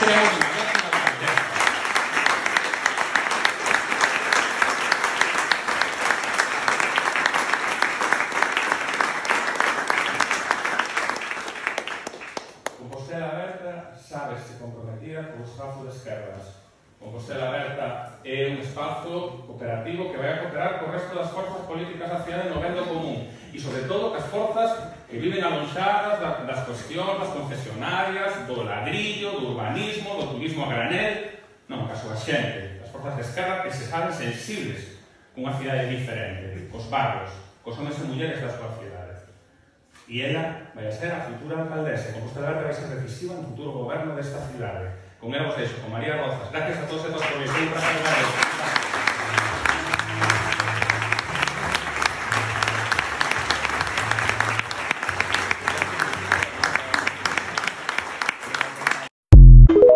cremos na máxima grandeza. Compostela Aberta sábese comprometida co espazo de esquerdas. Compostela Aberta é un espazo cooperativo que vai a cooperar co resto das forzas políticas da cidade no ben do común e, sobre todo, as forzas que viven alonxadas das cuestións, das concesionarias, do ladrillo, do urbanismo, do turismo a granel, non, caso a xente, as forzas de esquerda que se saben sensibles cunha cidade diferente, cos barrios, cos homens e mulleres da súa cidade. E ela vai a ser a futura alcaldesa. Compostela Aberta vai ser decisiva no futuro goberno desta cidade. Con ela vos deixo, con María Rozas. Gracias a todos e todas por vir.